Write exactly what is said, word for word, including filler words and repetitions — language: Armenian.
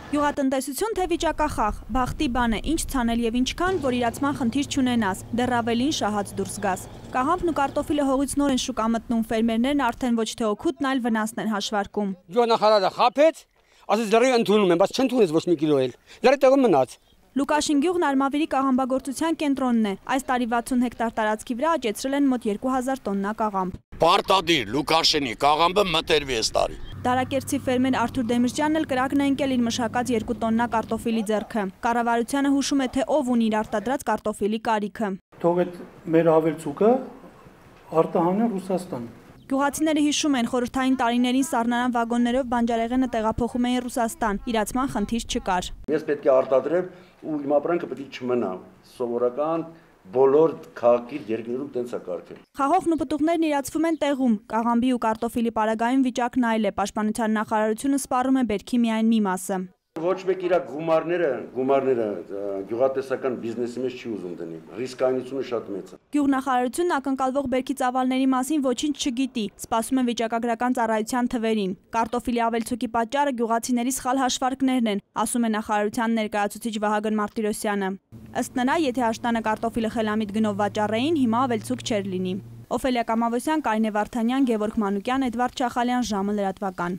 Գյուղատնտեսություն թե վիճակախախ, բախտի բան է, ինչ ցանել եւ ինչքան, որ իրացման խնդիր չունենաս, դեռ ավելին շահած դուրս գաս։ Կաղամբն ու կարտոֆիլը հողից նոր են շուկա մտնում, ֆերմերներն արդեն ոչ թե օգուտն, այլ վնասն են հաշվարկում։ Գյուղնախարարը խաբեց, ասես լրիվ ընդունում են, բայց չընդունեց ոչ մի կիլո էլ։ Լրիվ տեղում մնաց։ Լուկաշին գյուղն Արմավիրի կաղամբագործության կենտրոնն է։ Այս տարի վաթսուն հեկտար տարածքի վրա աճեցրել են մոտ երկու հազար տոննա կաղամբ։ Պարտադիր Լուկաշինի կաղամբը մտերվի այս տարի։ Դարակերտցի ֆերմեր Արթուր Դեմիրճյանն էլ կրակն է ընկել իր մշակած երկու տոննա կարտոֆիլի ձեռքը։ Կառավարությանը հուշում է, թե ով ունի իր արտադրած կարտոֆիլի կարիքը։ Թող այդ մեր ավելցուկը արտահանեն Ռուսաստան։ Գյուղացիները հիշում են, խորհրդային տարիներին սառնարան վագոններով բանջարեղենը տեղափոխում էին Ռուսաստան, իրացման խնդիր չկար։ Ես պետք է արտադրեմ ու իմ ապրանքը պետք է չմնա։ Սովորական բոլոր քաղաքի երկրներում տենց է կարգել։ Խաղողն ու պտուղներն իրացվում են տեղում, կաղամբի ու կարտոֆիլի պարագայում վիճակն այլ է, Պաշտպանության նախարարությունը սպառում է բերքի միայն մի մասը։ Ոչ մեկ իր գումարները, գումարները գյուղատնտեսական բիզնեսի մեջ չի ուզում դնի, ռիսկայնությունը շատ մեծ է։ Գյուղնախարարությունն ակնկալվող բերքի ծավալների մասին ոչինչ չգիտի, սպասում է վիճակագրական ծառայության թվերին։ Կարտոֆիլի ավելցուկի պատճառը գյուղացիների սխալ հաշվարկներն են, ասում է նախարարության ներկայացուցիչ Վահագն Մարտիրոսյանը։ Ըստ նրա, եթե աշտանը կարտոֆիլը խելամիտ գնով վաճառեին, հիմա ավելցուկ չէր լինի։ Օֆելիա Կամավոսյան, Կարինե Վարդանյան, Գևորգ Մանուկյան, Էդվարդ Չախալյան, ժամը լրատվական։